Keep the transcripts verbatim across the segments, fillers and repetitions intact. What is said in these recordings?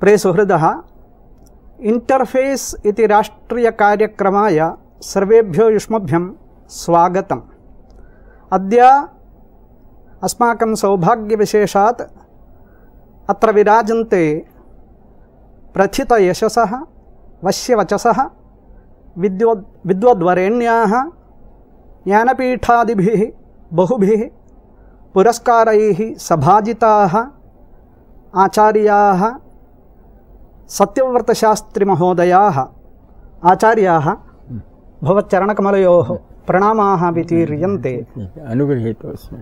प्रिय सुहृदः, इंटरफेस इति राष्ट्रीयकार्यक्रमाय सर्वेभ्यो युष्मभ्यं स्वागतम्। अद्य अस्माकं सौभाग्यविशेषात् अत्र विराजन्ते प्रथितयशसः वश्यवचसः विद्वद् विद्वद्वरेण्याः ज्ञानपीठादिभिः बहुभिः पुरस्कारैः सभाजिताः आचार्याः सत्यव्रतशास्त्रिमहोदयाः आचार्याः भवच्चरणकमलयोः प्रणामाः वितीर्यन्ते। अनुगृहीतोऽस्मि।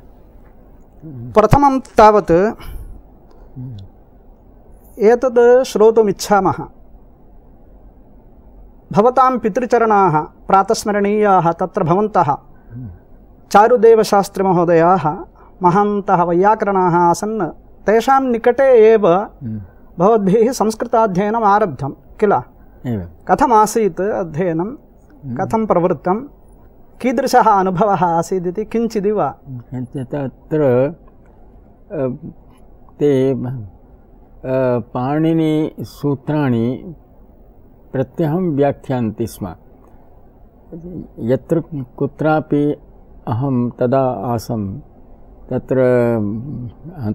प्रथमं तावत् एतद् श्रोतुमिच्छामः। भवतां पितृचरणाः प्रातस्मरणीयाः तत्र भवन्तः चारुदेवशास्त्रिमहोदयाः महान्तः वैयाकरणाः आसन्। तेषां निकटे एव भवद्भिः संस्कृताध्ययनम् आरब्धं किल? कथमासीत् अध्ययनं, कथं प्रवृत्तं, कीदृशः अनुभवः आसीदिति किञ्चिदिव? तत्र ते पाणिनिसूत्राणि प्रत्यहं व्याख्यान्ति स्म। यत्र कुत्रापि अहं तदा आसम् तत्र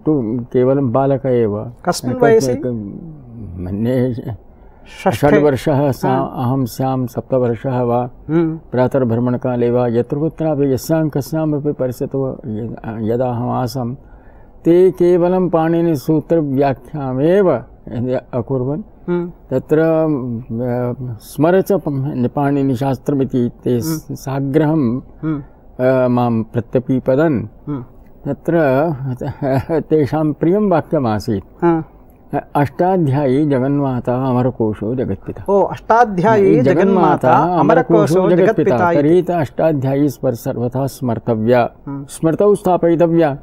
तु केवलं बालक एव। कस्मिन् वयसि? मन्ये षड्वर्षः अहं स्यां, सप्तवर्षः वा, प्रातर्भ्रमणकाले वा, यत्र कुत्रापि यस्यां कस्यामपि परिस्थितौ यदा अहम् आसं ते केवलं पाणिनिसूत्रव्याख्यामेव अकुर्वन्। तत्र स्मरच पाणिनिशास्त्रमिति ते साग्रहं मां प्रत्यपीपदन्। तत्र तेषां प्रियं वाक्यमासीत्, अष्टाध्यायी जगन्माता अमरकोशो जगत्पिता। ओ, अष्टाध्यायी जगन्माता अमरकोशो जगत्पिता। तर्हि अष्टाध्यायी सर्वथा स्मर्तव्या, स्मृतौ स्थापयितव्या।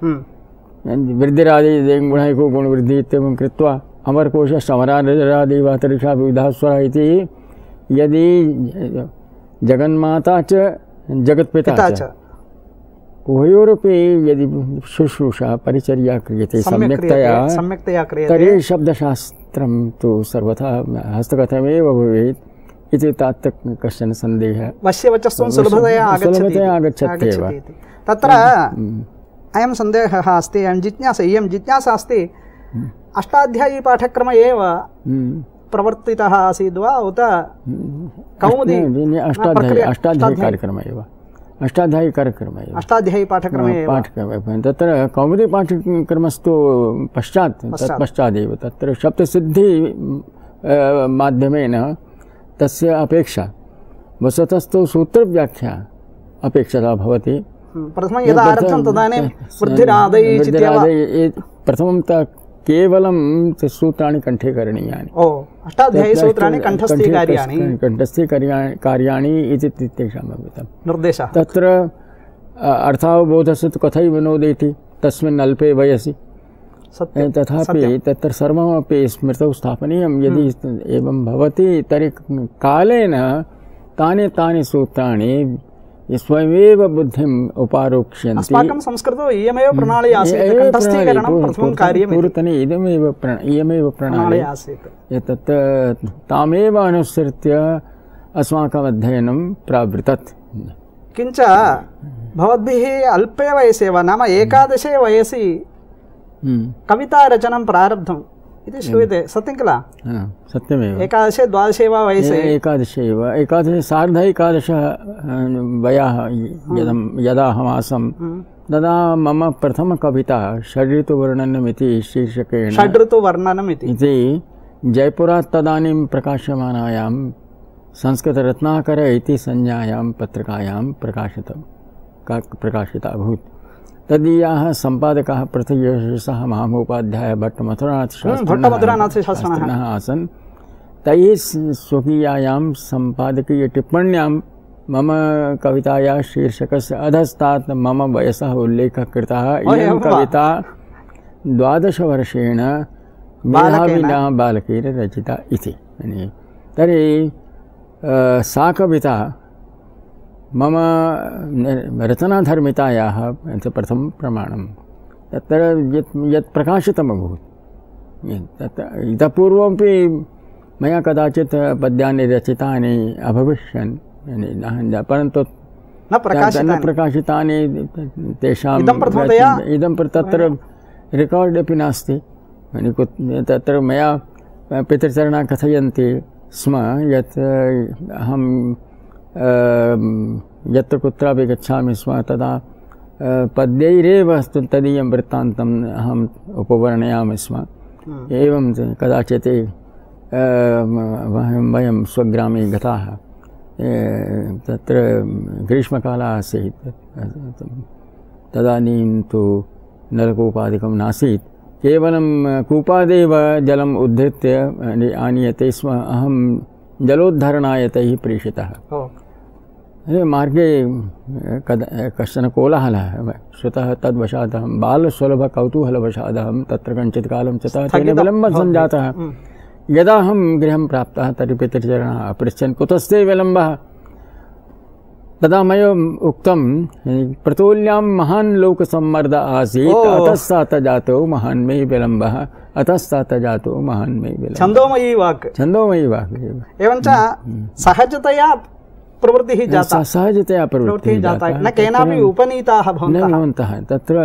वृद्धिरादि गुणैको गुणवृद्धि इत्येवं कृत्वा अमरकोशश्च अमरादिवा तरिषा विविधा स्वरा इति। यदि जगन्माता च जगत्पिता च उभयोरपि यदि शुश्रूषा परिचर्या क्रियते सम्यक्तया सम्यक्तया क्रियते तर्हि शब्दशास्त्रं तु सर्वथा हस्तगतमेव भवेत् इति तात् कश्चन सन्देहः वश्यवचस्त्वं सुलभतया आगच्छत्येव। तत्र अयं सन्देहः अस्ति, अयं जिज्ञासा इयं जिज्ञासा अस्ति, अष्टाध्यायी पाठक्रम एव प्रवर्तितः आसीद् वा उत कौमुदी? अष्टाध्यायी अष्टाध्यायी कार्यक्रम एव अष्टाध्यायी कार्यक्रम एव अष्टाध्यायी पाठक्रम एव पाठक्रम। तत्र कौमुदी पाठक्रमस्तु पश्चात् तत्पश्चादेव तत्र शब्दसिद्धि माध्यमेन तस्य अपेक्षा वस्तुतस्तु सूत्रव्याख्या अपेक्षिता भवति। प्रथमं यदा आरब्धं तदानीं वृद्धिरादि प्रथमं केवलं सूत्राणि कण्ठे करणीयानि। ओ, अष्टाध्यायी सूत्राणि कण्ठस्थीकार्याणि कण्ठस्थीकार्याणि इति तेषाम् निर्देशः। तत्र अर्थावबोधस्य तु कथैव नोदेति तस्मिन् अल्पे वयसि। तथापि तत्र सर्वमपि स्मृतौ स्थापनीयं। यदि एवं भवति तर्हि कालेन तानि तानि सूत्राणि स्वयमेव बुद्धिम् उपारोक्ष्यन्ति। अस्माकं संस्कृतौ इयमेव प्रणाली आसीत्, कण्ठस्थीकरणं प्रथमं कार्यम्। पूर्वतने इदमेव इयमेव प्रणाली आसीत्। एतत् तामेव अनुसृत्य अस्माकम् अध्ययनं प्रावृतत्। किञ्च भवद्भिः अल्पे वयसि एव, नाम एकादशे वयसि कवितारचनं प्रारब्धम् इति श्रूयते, सत्यं किल? सत्यमेव। एकादशे द्वादशे वा वयसि? एकादशे एव, एकादशे सार्ध एकादशः वयः यदा अहम् आसं तदा मम प्रथमकविता षड्ऋतुवर्णनमिति शीर्षकेण षड्ऋतुवर्णनमिति इति जयपुरात् तदानीं प्रकाश्यमानायां संस्कृतरत्नाकर इति संज्ञायां पत्रिकायां प्रकाशितं प्रकाशिता अभूत्। तदीयाः सम्पादकाः पृथ्वीयशसः महामहोपाध्याय भट्टमधुरानाथशास्त्रिणः आसन्। तैः स्वकीयायां सम्पादकीयटिप्पण्यां मम कवितायाः शीर्षकस्य अधस्तात् मम वयसः उल्लेखः कृतः। इयं कविता द्वादशवर्षेण मेधाविना बालकेन रचिता इति। तर्हि सा कविता मम रचनाधर्मितायाः प्रथमं प्रमाणं। तत्र यत् यत् प्रकाशितम् अभूत् इतः पूर्वमपि मया कदाचित् पद्यानि रचितानि अभविष्यन्, परन्तु न प्रकाशितानि प्रकाशितानि तेषाम् इदं तत्र रेकार्ड् अपि नास्ति। तत्र मया पितृचरणा कथयन्ति स्म यत् अहं यत्र कुत्रापि गच्छामि स्म तदा पद्यैरेव तदीयं वृत्तान्तम् अहम् उपवर्णयामि स्म। एवं कदाचित् वयं स्वग्रामे गताः, तत्र ग्रीष्मकालः आसीत्, तदानीं तु नलकूपादिकं नासीत्, केवलं कूपादेव जलम् उद्धृत्य आनीयते स्म। अहं जलोद्धरणाय तैः प्रेषितः। मार्गे कदा कश्चन कोलाहलः श्रुतः, तद्वशात् अहं बालसुलभकौतूहलवशादहं तत्र कञ्चित् कालं ततः तेन विलम्बः सञ्जातः। यदा अहं गृहं प्राप्तः तर्हि पितृचरणः अपृच्छन् कुतस्ते विलम्बः। तदा मया उक्तं प्रतोल्यां महान् लोकसम्मर्द आसीत्, अतस्तात जातो महान् मे विलम्बः, अतस्तात जातो महान् मे विलम्बः। छन्दोमयी वाक्, छन्दोमयी वाक्। एवञ्च सहजतया प्रवृत्तिः जाता, सहजतया प्रवृत्तिः जाता, न केनापि उपनीताः भवन्तः। तत्र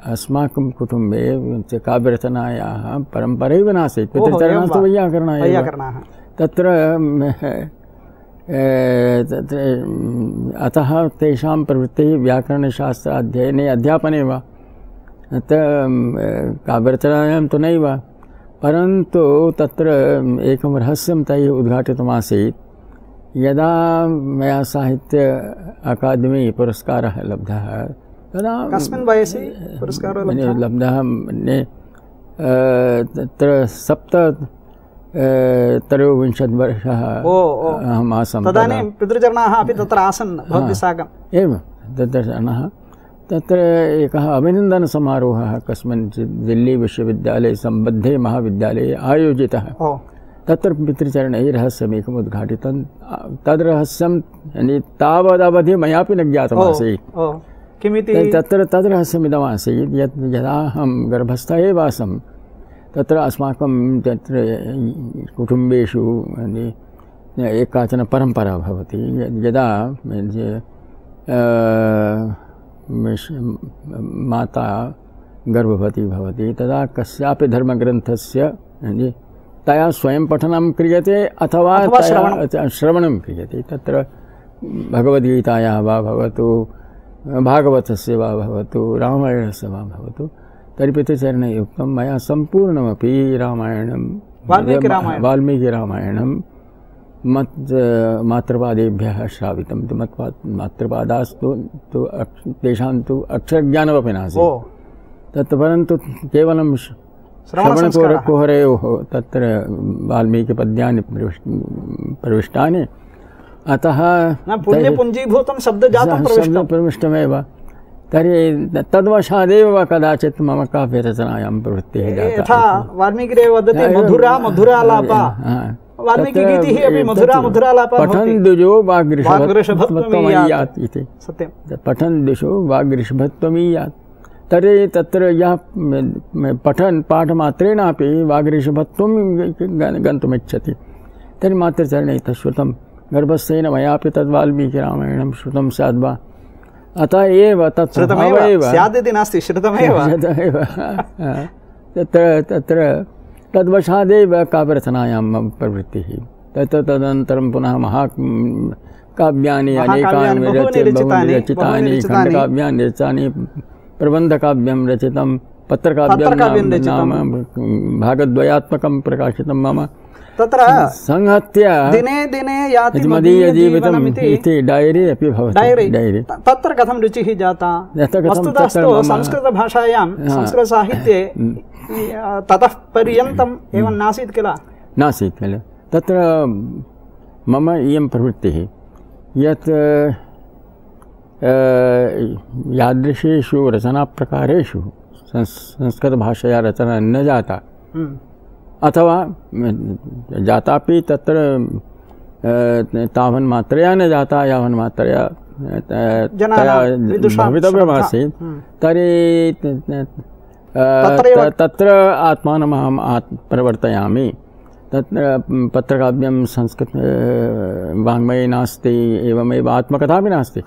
अस्माकं कुटुम्बे काव्यरचनायाः परम्परैव नासीत्, पितृचरणास्तु वैयाकरणाः। तत्र तत्र अतः तेषां प्रवृत्तिः व्याकरणशास्त्राध्ययने अध्यापने वा, काव्यरचनायां तु नैव। परन्तु तत्र एकं रहस्यं तैः उद्घाटितमासीत्। यदा मया साहित्य अकादमी पुरस्कारः लब्धः तदा कस्मिन् वयसि पुरस्कारः लब्धः? तत्र सप्त त्रयोविंशतिवर्षः अहम् आसम्। तदानीं पितृचरणाः अपि तत्र आसन् भवद्भिः साकम्? एवं पितृचरणाः। तत्र एकः अभिनन्दनसमारोहः कस्मिंश्चित् दिल्ली विश्वविद्यालये सम्बद्धे महाविद्यालये आयोजितः। तत्र पितृचरणैः रहस्यमेकम् उद्घाटितं। तद् रहस्यं तावदवधि मयापि न ज्ञातमासीत्। किमिति? तत्र तद् रहस्यमिदमासीत् यत् यदा अहं गर्भस्थ एव आसम्, तत्र अस्माकं तत्र कुटुम्बेषु एक काचन परम्परा भवति। यदा माता गर्भवती भवति तदा कस्यापि धर्मग्रन्थस्य तया स्वयं पठनं क्रियते अथवा श्रवणं क्रियते। तत्र भगवद्गीतायाः वा भवतु, भागवतस्य वा भवतु, रामायणस्य वा भवतु, तर्हि पितृचरणैः उक्तं मया सम्पूर्णमपि रामायणं वाल्मीकिरामायणं मत् मातृपादेभ्यः श्रावितं। तु मत् मातृपादास्तु तु तेषां तु अक्षरज्ञानमपि नासीत्। तत् परन्तु केवलं श्रवणकुहरयोः तत्र वाल्मीकिपद्यानि प्रविष्टानि, अतः पुण्यपुञ्जीभूतं शब्दजातं प्रविष्टमेव। तर्हि तद्वशादेव कदाचित् मम काव्यरचनायां प्रवृत्तिः जाता। यथा वाल्मीकिरेव वदति मधुरा मधुरालापा, वाल्मीकिगीतिः अपि मधुरा मधुरालापा। पठन् द्विजो वाग्ऋषभत्वमीयात् इति। सत्यं। पठन् द्विजो वाग्ऋषभत्वमीयात्। तर्हि तत्र यः पठन् पाठमात्रेणापि वाग्ऋषभत्वं गन्तुमिच्छति, तर्हि मातृचरणे तच्छ्रुतं। गर्भस्थेन मयापि तद् वाल्मीकिरामायणं श्रुतं स्याद् वा? अतः एव तत् श्रुतमेव स्यादिति नास्ति, श्रुतमेव। तत्र तत्र तद्वशादेव काव्यरचनायां मम प्रवृत्तिः। तत् तदनन्तरं पुनः महाकाव्यानि अनेकानि रचितानि, खण्डकाव्यानि रचितानि, प्रबन्धकाव्यं रचितं, पत्रकाव्यं नाम भागद्वयात्मकं प्रकाशितं मम। तत्र संहत्य दिने दिने याति मदीयजीवितम् इति डायरी अपि भवति। डायरी तत्र कथं रुचिः जाता? वस्तुतस्तु संस्कृतभाषायां संस्कृतसाहित्ये ततः पर्यन्तम् एवं नासीत् किल? नासीत् किल। तत्र मम इयं प्रवृत्तिः यत् यादृशेषु रचनाप्रकारेषु संस्कृतभाषया रचना न जाता, अथवा जातापि तत्र तावन्मात्रया न जाता यावन्मात्रया भवितव्यमासीत्, तर्हि तत्र आत्मानमहम् आत् प्रवर्तयामि। तत्र पत्रकाव्यं संस्कृत वाङ्मये नास्ति, एवमेव आत्मकथा अपि नास्ति।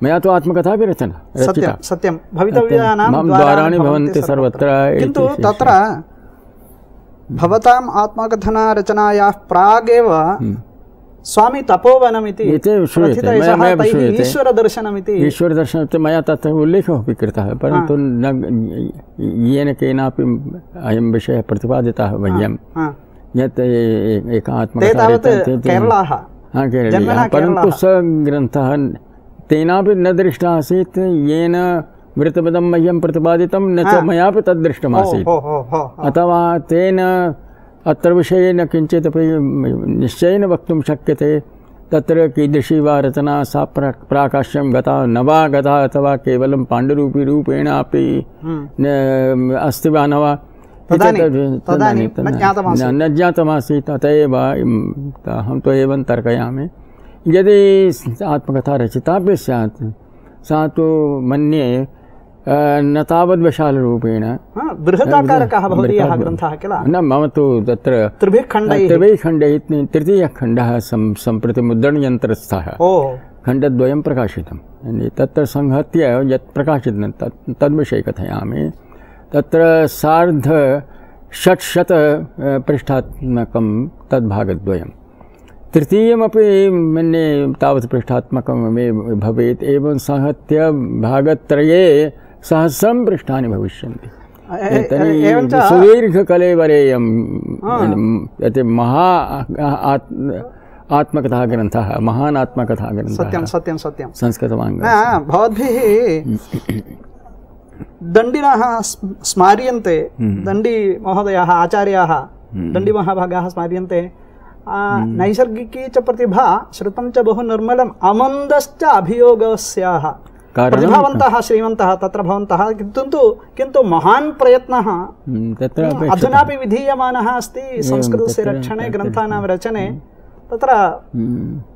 मया तु आत्मकथा अपि रचना सत्यं सत्यं भवितव्यानां द्वाराणि भवन्ति सर्वत्र। किन्तु तत्र भवताम् आत्मकथनरचनायाः प्रागेव स्वामी तपोवनमिति ईश्वरदर्शनमिति ईश्वरदर्शनमिति मया तत्र उल्लेखः अपि कृतः, परन्तु न येन केनापि अयं विषयः प्रतिपादितः मह्यं यत् एक आत्मकथा केरलाः परन्तु स ग्रन्थः तेनापि न दृष्टः आसीत्, येन मृतपदं मह्यं प्रतिपादितं न च मयापि तद्दृष्टमासीत्। अथवा तेन अत्र विषये न किञ्चिदपि निश्चयेन वक्तुं शक्यते तत्र कीदृशी वा रचना सा प्राकाश्यं गता न वा गता, अथवा केवलं पाण्डुरूपीरूपेण अपि अस्ति वा न वा न ज्ञातमासीत्। अत एव अहं तु एवं तर्कयामि, यदि आत्मकथा रचितापि स्यात् सा तु मन्ये न तावद् विशालरूपेण बृहदाकारकः भवदीयः ग्रन्थः किल। न मम तु तत्र त्रिभिः खण्डैः त्रिभिः खण्डैः तृतीयखण्डः सम्प्रति मुद्रणयन्त्रस्थः खण्डद्वयं प्रकाशितं। तत्र संहत्य यत् प्रकाशितं तत् तद्विषये कथयामि। तत्र सार्ध षट्शत पृष्ठात्मकं तद्भागद्वयं, तृतीयमपि मन्ये तावत् पृष्ठात्मकमेव भवेत्। एवं संहत्य भागत्रये सहस्रं पृष्ठानि भविष्यन्ति। सुदीर्घकलेवरेयं यत् महा आत्मकथा ग्रन्थः, महान् आत्मकथा ग्रन्थः। सत्यं सत्यं सत्यं संस्कृतवाङ्ग भवद्भिः दण्डिनः स्मार्यन्ते, दण्डी महोदयाः आचार्याः दण्डीमहाभागाः स्मार्यन्ते। नैसर्गिकी च प्रतिभा श्रुतं च बहु निर्मलम् अमन्दश्च अभियोगस्याः। प्रतिभावन्तः श्रीमन्तः तत्र भवन्तः, किन्तु किन्तु महान् प्रयत्नः अधुनापि विधीयमानः अस्ति संस्कृतस्य रक्षणे, ग्रन्थानां रचने। तत्र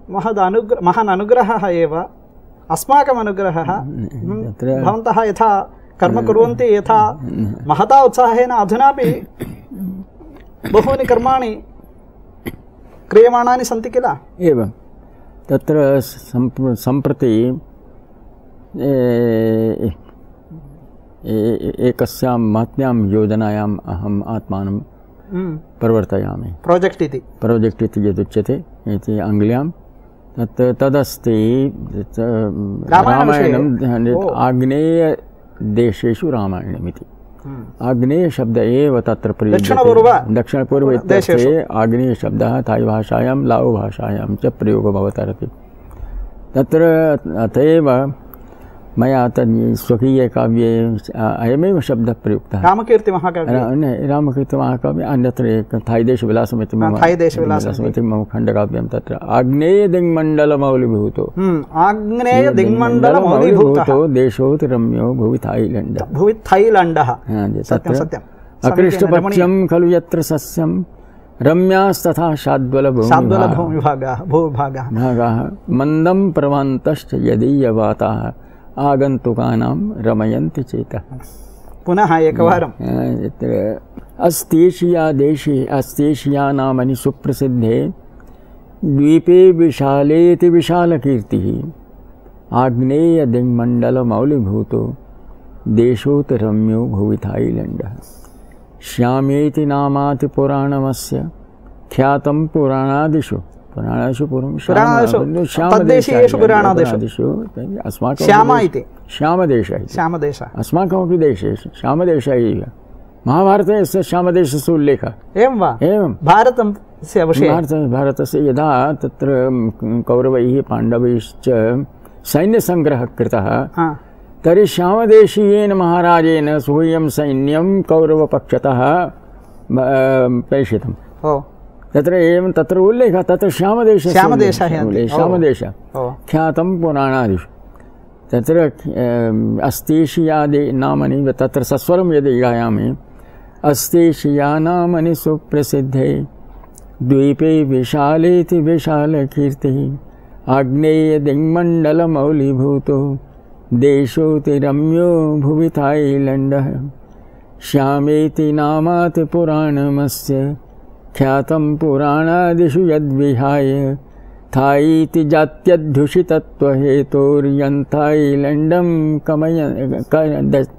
महद् अनुग्र महान् अनुग्रहः एव अस्माकम् अनुग्रहः। भवन्तः यथा कर्म कुर्वन्ति, यथा महता उत्साहेन अधुनापि बहूनि कर्माणि क्रियमाणानि सन्ति किल। एवं तत्र सम्प्रति एकस्यां महत्यां योजनायाम् अहम् आत्मानं प्रवर्तयामि। प्रोजेक्ट् इति प्रोजेक्ट् इति यदुच्यते इति आङ्ग्ल्यां तत् तदस्ति रामायणम् आग्नेयदेशेषु रामायणमिति। आग्नेयशब्द एव तत्र प्रयुज्यते। दक्षिणपूर्व इत्यर्थे आग्नेयशब्दः थाई भाषायां लाओ भाषायां च प्रयोगो भवतर्हति। तत्र अत एव मया तद् स्वकीये काव्ये अयमेव शब्दः प्रयुक्तः। रामकीर्तिमहाकाव्ये रामकीर्तिमहाकाव्ये अन्यत्र थाईदेशविलासमिति मम थाईदेशविलासमिति मम खण्डकाव्यं तत्र आग्नेयदिङ्मण्डलमौलिभूतो आग्नेयदिङ्मण्डलमौलिभूतो देशोऽतिरम्यो भुवि थाईलैण्डः भुवि थाईलैण्डः तत्र अकृष्टपक्ष्यं खलु यत्र सस्यं रम्यास्तथा शाद्वलभूमिभागाः भागाः मन्दं प्रवन्तश्च यदीयवाताः आगन्तुकानां रमयन्ति चेतः। पुनः एकवारं अस्तेशिया देशे अस्तेशिया नामनि सुप्रसिद्धे द्वीपे विशालेति विशालकीर्तिः आग्नेयदिङ्मण्डलमौलिभूतो देशोऽतिरम्यो भुवि थाईलैण्डः। श्यामेति नामाति पुराणमस्य ख्यातं पुराणादिषु पुराणादिषु पूर्वं तद्देशीयेषु पुराणादिषु अस्माकं श्यामा इति श्यामदेशः श्यामदेशः अस्माकमपि देशेषु श्यामदेशः एव। महाभारते अस्य श्यामदेशस्य उल्लेखः। एवं वा? एवं भारतस्य विषये भारतस्य यदा तत्र कौरवैः पाण्डवैश्च सैन्यसङ्ग्रहः कृतः तर्हि श्यामदेशीयेन महाराजेन सुह्यं सैन्यं कौरवपक्षतः प्रेषितं। तत्र एवं तत्र उल्लेखः तत्र श्यामदेशः श्यामदेशः श्यामदेशः ख्यातं पुराणादिषु तत्र अस्तेशियादि नामनि तत्र सस्वरं यदि गायामि अस्तेशिया नामनि सुप्रसिद्धे द्वीपे विशालेति विशालकीर्तिः आग्नेयदिङ्मण्डलमौलिभूतो देशोऽतिरम्यो भुवि थाईलैण्डः। श्यामेति नामात् पुराणमस्य ख्यातं पुराणादिषु यद्विहाय थाईति जात्यध्युषितत्वहेतोर्यन्थाईलैण्डं कमय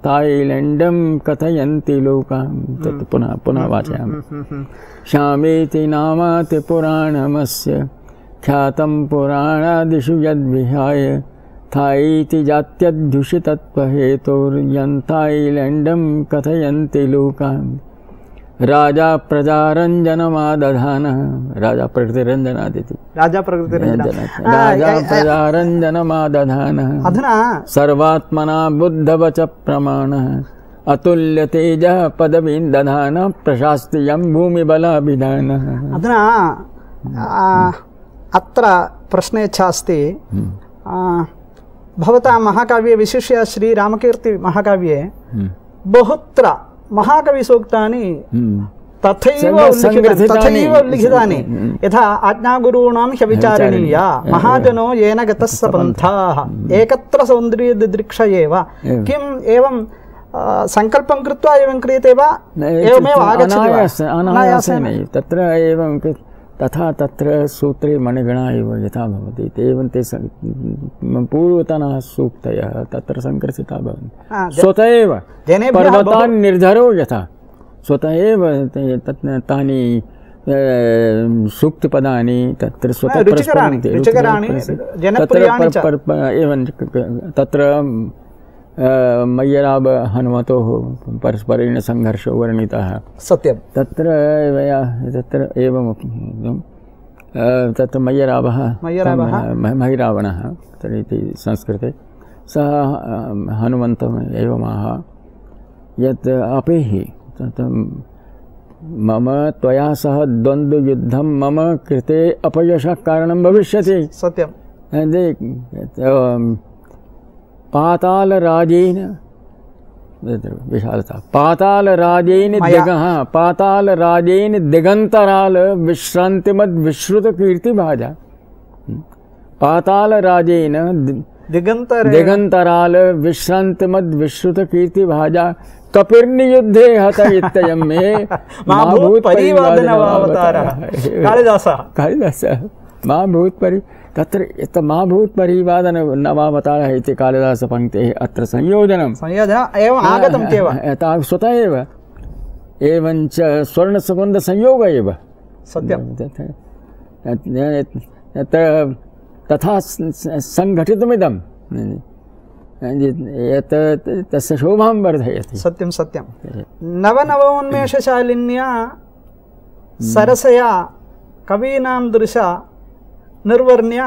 थाईलैण्डं कथयन्ति लोकाः। तत् पुनः पुनः वाचयामि। श्यामेति नामात् पुराणमस्य ख्यातं पुराणादिषु यद्विहाय थाईति जात्यध्युषितत्वहेतोर्यन्थाईलैण्डं कथयन्ति लोकाः। राजा प्रजारञ्जनमादधानः राजा प्रकृतिरञ्जनादिति राजा प्रकृतिरञ्जनः राजा प्रजारञ्जनमादधानः अधुना सर्वात्मना बुद्धवच प्रमाणः अतुल्य तेजः पदवीं दधानः प्रशास्त्रियं भूमिबलाभिधानः। अधुना अत्र प्रश्नेच्छा अस्ति। भवता महाकाव्ये विशिष्य श्रीरामकीर्ति महाकाव्ये बहुत्र महाकविसूक्तानि तथैव तथैव लिखितानि। यथा आज्ञागुरूणां ह्यविचारणीया महाजनो येन गतः स पन्थाः एकत्र सौन्दर्यदिदृक्षये वा। किम् एवं संकल्पं कृत्वा एवं क्रियते वा एवमेव आगच्छति वा? अनायासेन तत्र एवं तथा तत्र सूत्रे मणिगणा एव यथा भवति एवं ते पूर्वतनाः सूक्तयः तत्र सङ्ग्रथिता भवन्ति। स्वतः एव पर्वतान् निर्धरो यथा स्वतः एव तानि सूक्तिपदानि तत्र स्वतः एवं तत्र मय्यराब हनुमतोः परस्परेण संघर्षो वर्णितः। सत्यं तत्र तत्र एवं तत्र मय्यरावः महिरावणः इति संस्कृते सः हनुमन्तम् एवमाह यत् अपेहि मम त्वया सह द्वन्द्वयुद्धं मम कृते अपयशः कारणं भविष्यति। सत्यं पातालराजेन विशालता पातालराजेन दिगः पातालराजेन दिगंतराल विश्रांतिमद विश्रुत कीर्तिभाजा पातालराजेन दिगंतर दिगंतराल विश्रांतिमद विश्रुत कीर्तिभाजा कपिर्नियुद्धे हत इत्ययं मे महाभूत परिवादनवावतारः कालिदासः कालिदासः महाभूत परि तत्र महाभूत परिवादन नवावतारः इति कालिदासपङ्क्तेः अत्र संयोजनं संयोजनम् एवम् आगतं चेव स्वतः एव एवञ्च स्वर्णसुगन्धसंयोग एव सत्यं तथा सङ्घटितमिदं यत् तस्य शोभां वर्धयति। सत्यं सत्यं नवनवोन्मेषशालिन्या सरसया कवीनां दृशा निर्वर्ण्य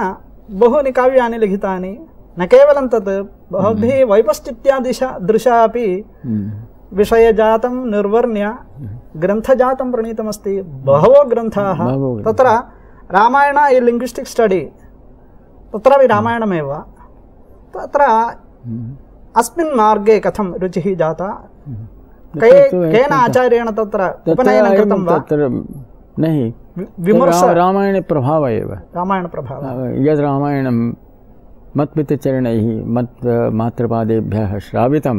बहूनि काव्यानि लिखितानि। न केवलं तत् बहुभिः वैपश्चित्यादिशा दृशा अपि विषयजातं निर्वर्ण्य ग्रन्थजातं प्रणीतमस्ति। बहवो ग्रन्थाः तत्र रामायण इ लिङ्ग्विस्टिक् स्टडी तत्रापि रामायणमेव। तत्र अस्मिन् मार्गे कथं रुचिः जाता केन आचार्येण तत्र उपनयनं कृतं वा? नहीं विमर्श रामायण प्रभाव एव रामायण प्रभाव यद् रामायणं मत्पितृचरणैः मत् मातृपादेभ्यः श्रावितं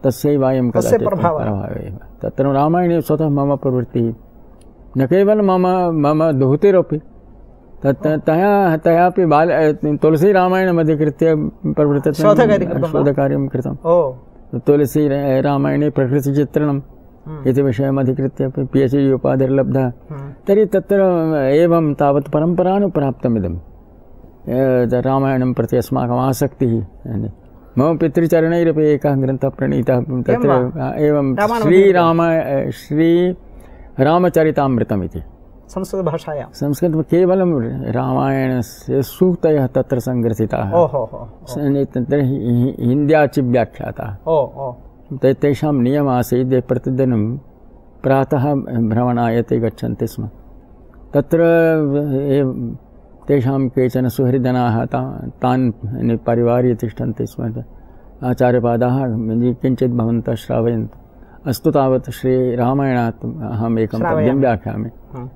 तस्यैव अयं कदाचित् प्रभावः एव। तत्र रामायणे स्वतः मम प्रवृत्तिः न केवलं मम मम दुहितिरपि तत् तया तयापि बाल तुलसीरामायणमधिकृत्य प्रवृत्तं शोधकार्यं कृतं। तुलसी रामायणे प्रकृतिचित्रणम् इति विषयमधिकृत्य पि एच् डि उपाधिर्लब्धः। तर्हि तत्र एवं तावत् परम्परानुप्राप्तमिदं रामायणं प्रति अस्माकम् आसक्तिः। मम पितृचरणैरपि एकः ग्रन्थः प्रणीतः तत्र एवं श्रीराम श्रीरामचरितामृतमिति संस्कृतभाषायां संस्कृतं केवलं रामायणस्य सूक्तयः तत्र सङ्ग्रथिताः हिन्द्याचि व्याख्याताः। तेषां नियमः आसीत् प्रतिदिनं प्रातः भ्रमणाय ते गच्छन्ति स्म। तत्र तेषां केचन सुहृदनाः तान् परिवार्य तिष्ठन्ति स्म। आचार्यपादाः किञ्चित् भवन्तः श्रावयन्तु। अस्तु तावत् श्रीरामायणात् अहम् एकं पद्यं व्याख्यामि।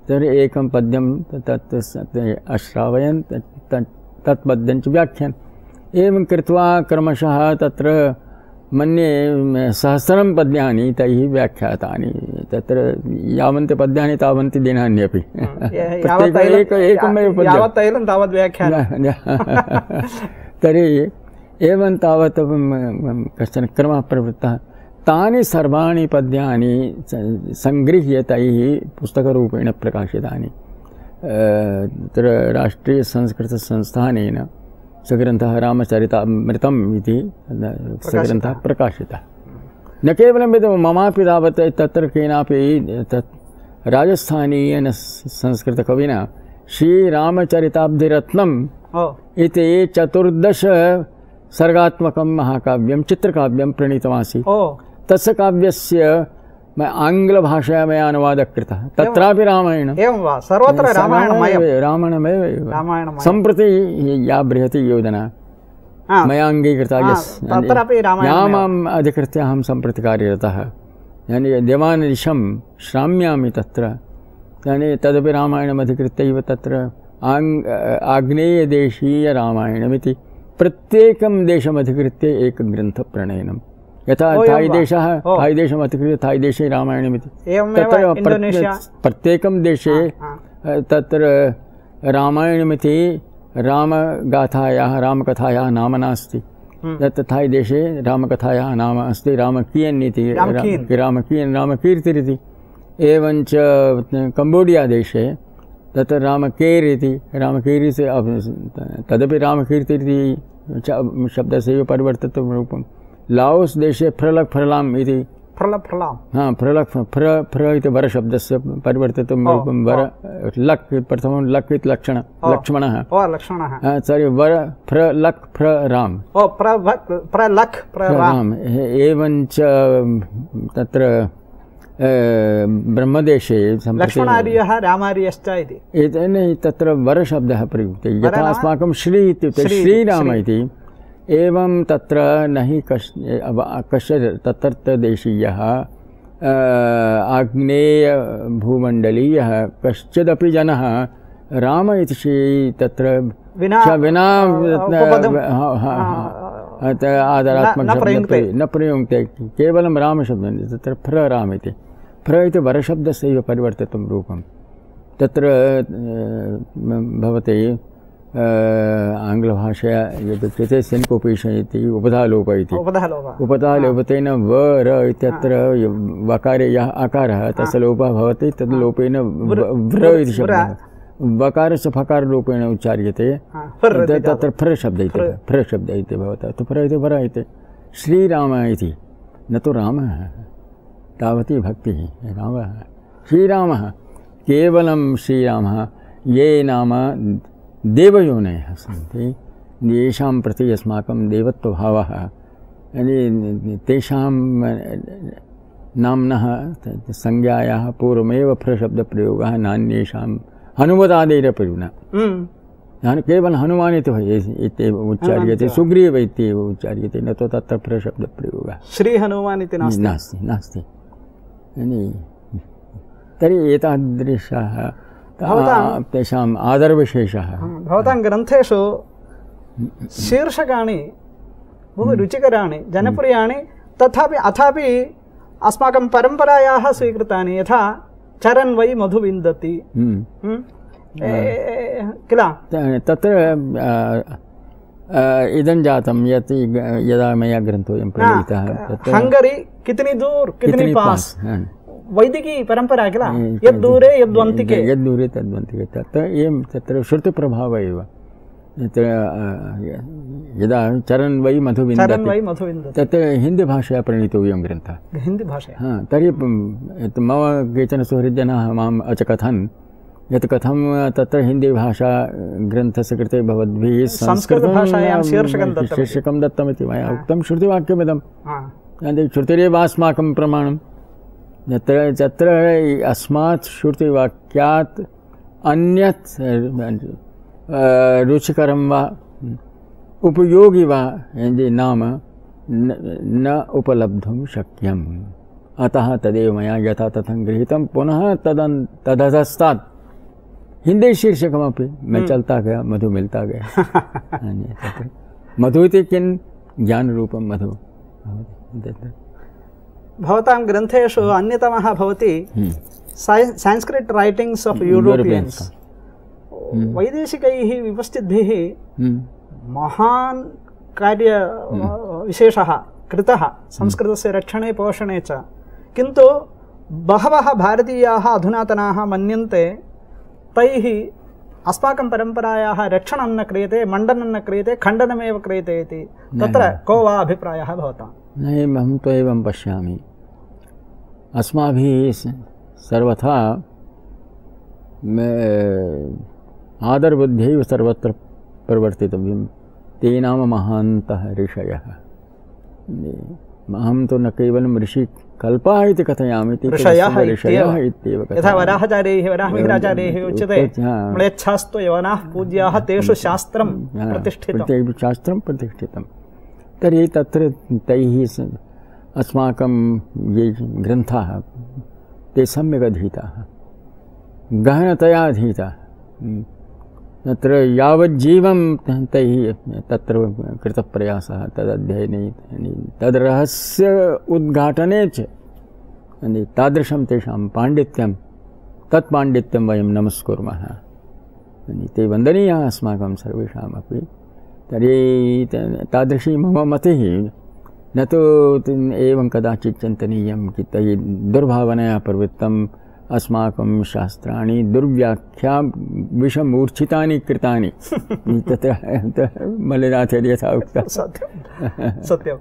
तर्हि एकं पद्यं तत् अश्रावयन् तत् पद्यं च व्याख्यान्। एवं कृत्वा क्रमशः तत्र मन्ये सहस्रं पद्यानि तैः व्याख्यातानि तत्र यावन्ति पद्यानि तावन्ति दिनान्यपि एकमेव यावत् तैलं तावत् व्याख्यानं तर्हि एवं तावत् कश्चन क्रमः प्रवृत्तः तानि सर्वाणि पद्यानि सङ्गृह्य तैः पुस्तकरूपेण प्रकाशितानि तत्र राष्ट्रीयसंस्कृतसंस्थानेन स ग्रन्थः रामचरितामृतम् इति स ग्रन्थः प्रकाशितः न केवलं यत् ममापि तावत् तत्र केनापि तत् राजस्थानीयेन संस्कृतकविना श्रीरामचरिताब्धिरत्नम् इति चतुर्दश सर्गात्मकं महाकाव्यं चित्रकाव्यं प्रणीतमासीत् तस्य काव्यस्य आङ्ग्लभाषया मया अनुवादः कृतः तत्रापि रामायणम् एवं वा सर्वत्र रामायणमयं रामायणमेव रामायणमयं सम्प्रति या बृहती योजना मया अङ्गीकृता तत्रापि रामायणं या माम् अधिकृत्य अहं सम्प्रति कार्यरतः यानि देवानिशं श्राम्यामि तत्र यानि तदपि रामायणम् अधिकृत्यैव तत्र आङ् आग्नेयदेशीयरामायणमिति प्रत्येकं देशमधिकृत्य एकग्रन्थप्रणयनं यथा थाईदेशः थाईदेशम् अधिकृत्य थाईदेशे रामायणमिति तत्र प्रत्येकं देशे तत्र रामायणमिति रामगाथायाः रामकथायाः नाम नास्ति तत् थाईदेशे रामकथायाः नाम अस्ति रामकीयन् इति रामकीयन् रामकीर्तिरिति एवञ्च कम्बोडिया देशे तत्र रामकेर् इति रामकीर्ति तदपि रामकीर्तिरिति शब्दस्यैव परिवर्तितं रूपं लाओस् देशे फ्रलक् फ्रलाम् इति फ्रलक् फ्रलाम् हा फ्रलक् फ्र फ्र इति वरशब्दस्य परिवर्तितं रूपं वर लक् प्रथमं लक् इति लक्षण लक्ष्मणः लक्ष्मणः सारी वर फ्र लक् फ्र राम फ्र लक् फ्र राम एवञ्च तत्र ब्रह्मदेशे लक्ष्मणार्यः रामार्यश्च इति तत्र वरशब्दः प्रयुक्ते यथा अस्माकं श्री इत्युक्ते श्रीराम इति एवं तत्र न हि कश् कश्चित् तत्रत्यदेशीयः आग्नेयभूमण्डलीयः कश्चिदपि जनः राम इति श्री तत्र विना आदरात्मकशब्दः न प्रयुङ्क्ते केवलं रामशब्दः तत्र फ्र राम इति फ्र इति वरशब्दस्यैव परिवर्तितं रूपं तत्र भवति आङ्ग्लभाषया यदुच्यते सिन्कोपेशन् इति उपधालोप इति उपधालोपतेन व र इत्यत्र वकारे यः आकारः तस्य लोपः भवति तद् लोपेन व्र इति शब्दः वकारस्य फकाररूपेण उच्चार्यते तत्र फ्र शब्द इति फ्र शब्द इति भवति तु फ्र इति वर इति श्रीराम इति न तु रामः तावती भक्तिः रामः श्रीरामः केवलं श्रीरामः ये नाम देवयोनयः सन्ति येषां प्रति अस्माकं देवत्वभावः तेषां नाम्नः संज्ञायाः पूर्वमेव फ्रशब्दप्रयोगः नान्येषां हनुमदादेरपि न केवलं हनुमान् इत्येव उच्चार्यते सुग्रीव इत्येव उच्चार्यते न तु तत्र फ्रशब्दप्रयोगः श्रीहनुमान् इति नास्ति नास्ति तर्हि एतादृशः तेषाम् आदरविशेषः भवतां ग्रन्थेषु शीर्षकाणि बहु रुचिकराणि जनप्रियाणि तथापि अथापि अस्माकं परम्परायाः स्वीकृतानि यथा चरन् वै मधु विन्दति किल तत्र इदं जातं यत् यदा मया ग्रन्थोऽयं प्रणीतः हंगरी कितनी दूर कितनी पास वैदिकी परंपरा किल यद्दूरे यद्वन्तिके यद्दूरे तद्वन्तिके तत्र एवं तत्र श्रुतिप्रभावः एव तत्र यदा चरन् वै मधु विन्दति तत्र हिन्दीभाषया प्रणीतोऽयं ग्रन्थः हिन्दीभाषया हा तर्हि मम केचन सुहृद्जनाः माम् अचकथन् यत् कथं तत्र हिन्दीभाषा ग्रन्थस्य कृते भवद्भिः संस्कृतभाषायां शीर्षकं शीर्षकं दत्तमिति मया उक्तं श्रुतिवाक्यमिदं श्रुतिरेव अस्माकं प्रमाणं यत्र तत्र अस्मात् श्रुतिवाक्यात् अन्यत् रुचिकरं वा उपयोगी वा नाम न उपलब्धुं शक्यम् अतः तदेव मया यथा तथा गृहीतं पुनः तदन् तदधस्तात् हिंदी शीर्षकमपि मैं चलता गया मधु मिलता गया मधु इति किं ज्ञान रूपं मधु भवति। भवतां ग्रन्थेषु अन्यतमः भवति संस्कृत रैटिंग्स् ऑफ यूरोपियन्स्। वैदेशिकैः विपश्चिद्भिः महान् कार्य विशेषः कृतः संस्कृतस्य रक्षणे पोषणे च, किन्तु बहवः भारतीयाः अधुनातनाः मन्यन्ते तैः अस्माकं परम्परायाः रक्षणं न क्रियते, मण्डनं न क्रियते, खण्डनमेव क्रियते इति। तत्र को वा अभिप्रायः भवतां? नहीं, अहं तु एवं पश्यामि। अस्माभिः सर्वथा आदरबुद्ध्यैव सर्वत्र परिवर्तितव्यं। ते नाम महान्तः ऋषयः। अहं तु न केवलं ऋषिकल्पाः इति कथयामि, ऋषयः इत्येव। यथा वराहाचार्यैः वराहमिहिराचार्यैः उच्यते म्लेच्छास्तु यवनाः पूज्याः तेषु शास्त्रं प्रतिष्ठितं। शास्त्रं प्रतिष्ठितं। तर्हि तत्र तैः अस्माकं ये ग्रन्थाः ते सम्यक् अधीताः, गहनतया अधीताः। तत्र यावज्जीवं तैः तत्र कृतप्रयासः तदध्ययने, तद्रहस्य उद्घाटने च तादृशं तेषां पाण्डित्यं, तत् पाण्डित्यं वयं नमस्कुर्मः। ते वन्दनीयाः अस्माकं सर्वेषामपि। तर्हि तादृशी मम मतिः। न तु एवं कदाचित् चिन्तनीयं कि तैः दुर्भावनया प्रवृत्तम् अस्माकं शास्त्राणि दुर्व्याख्या विषमूर्छितानि कृतानि। तत्र मल्लिनाथेन यथा उक्तं सत्यम्।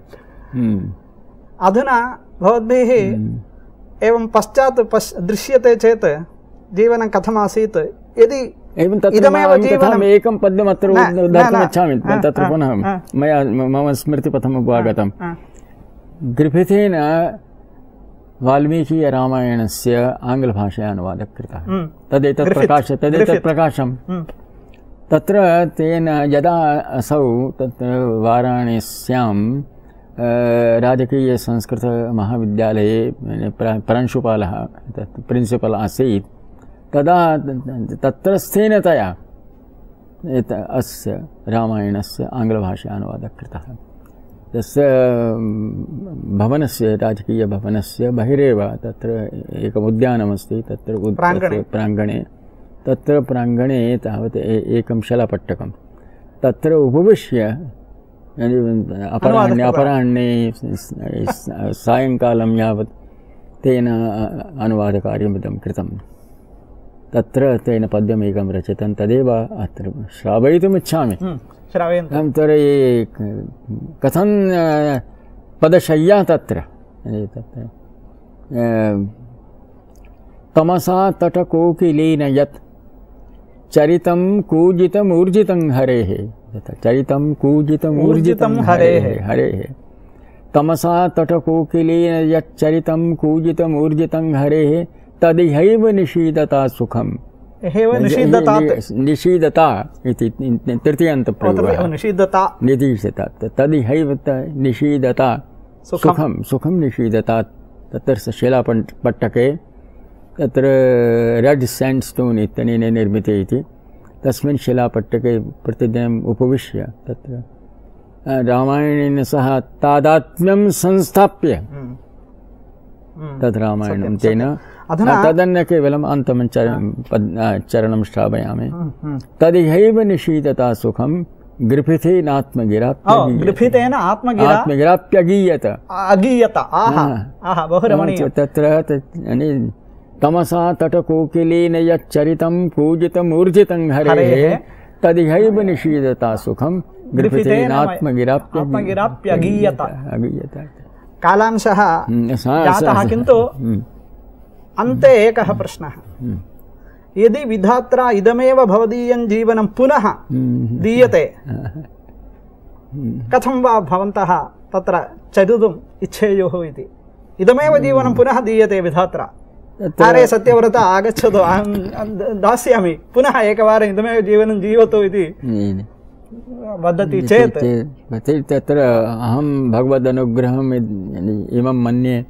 अधुना भवद्भिः एवं पश्चात् पश् दृश्यते चेत् जीवनं कथमासीत्, यदि एवं तत्र एकं पद्यम् अत्र दातुमिच्छामि। तत्र पुनः मया मम स्मृतिपथमुपागतं। ग्रिफिथेन वाल्मीकि रामायणस्य आङ्ग्लभाषया अनुवादः कृतः। तदेतत् प्रकाश तदेतत् प्रकाशं तत्र तेन यदा असौ तत्र वाराणस्यां राजकीयसंस्कृतमहाविद्यालये प्रांशुपालः तत् प्रिन्सिपल् आसीत्, तदा तत्रस्थेन तया अस्य रामायणस्य आङ्ग्लभाषया अनुवादः कृतः। तस्य भवनस्य राजकीयभवनस्य बहिरेव तत्र एकम् उद्यानमस्ति। तत्र प्राङ्गणे तत्र प्राङ्गणे तावत् एकं शलपट्टकं, तत्र उपविश्य अपराह्णे अपराह्णे सायङ्कालं यावत् तेन अनुवादकार्यमिदं कृतं। तत्र तेन पद्यमेकं रचितं, तदेव अत्र श्रावयितुमिच्छामि। तर्हि कथं पदशय्या तत्र तमसा तटकोकिलेन यत् चरितं कूजितमूर्जितं हरेः। चरितं कूजितमूर्जितं हरेः हरेः तमसा तटकोकिलेन यत् चरितं कूजितमूर्जितं हरेः तदिहैव निषीदता सुखम्। निषीदता इति तृतीयान्तप्रयोगः। निषीदता निषीदता तदिहैव निषीदता सुखं सुखं निषीदता। तत्र शिलापट्टके तत्र रेड् सैण्ड्स्टोन् इत्यनेन निर्मिते इति तस्मिन् शिलापट्टके प्रतिदिनम् उपविश्य तत्र रामायणेन सह तादात्म्यं संस्थाप्य तद् रामायणं तेन तदन्न केवलम् अन्तं चरणं श्रावयामि। तदिहैव निषीदता सुखं ग्रिफिथेन आत्मगिराप्यगीयत आत्मगिराप्यगीयत अगीयत। बहु रमणीयं। तत्र तमसा तटकोकिलेन यच्चरितं पूजितमूर्जितं हरेः तदिहैव निषीदता सुखं ग्रिफिथेन आत्मगिराप्यगीयत अगीयत। कालांशः जातः, किन्तु अन्ते एकः प्रश्नः। यदि विधात्रा इदमेव भवदीयं जीवनं पुनः दीयते, कथं वा भवन्तः तत्र चरितुम् इच्छेयुः इति? इदमेव जीवनं पुनः दीयते विधात्रा। अरे सत्यव्रता आगच्छतु, अहं दास्यामि, पुनः एकवारम् इदमेव जीवनं जीवतु इति वदति चेत् तत्र अहं भगवदनुग्रहम् इमं मन्ये।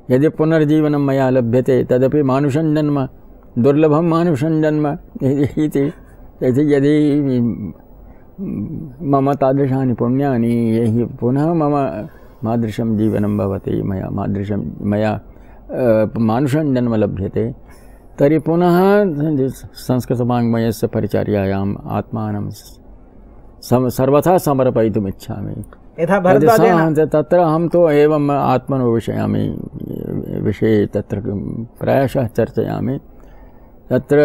यदि पुनर्जीवनं मया लभ्यते तदपि मानुषं जन्म, दुर्लभं मानुषं जन्म इति। यदि मम तादृशानि पुण्यानि यैः पुनः मम मादृशं जीवनं भवति, मया मादृशं मया मानुषं जन्म लभ्यते, तर्हि पुनः संस्कृतवाङ्मयस्य परिचर्यायाम् आत्मानं सर्वथा समर्पयितुम् इच्छामि। यथा भरद्वाजेन तत्र अहं तु एवम् आत्मनो विषयामि विषये तत्र प्रायशः चर्चयामि। तत्र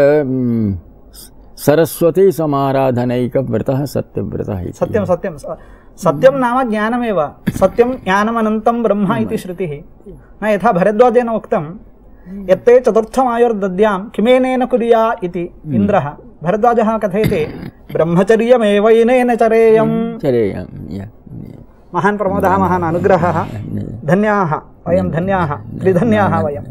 सरस्वती समाराधनैकव्रतः सत्यव्रतः इति। सत्यं सत्यं सत्यं नाम ज्ञानमेव। सत्यं ज्ञानमनन्तं ब्रह्म इति श्रुतिः। न यथा भरद्वाजेन उक्तं यत्ते चतुर्थमायुर्दद्यां किमेनेन कुर्या इति इन्द्रः, भरद्वाजः कथयति ब्रह्मचर्यमेवैनेन चरेयम्। महान् प्रमोदः, महान् अनुग्रहः। धन्याः वयं, धन्याः त्रिधन्याः वयम्।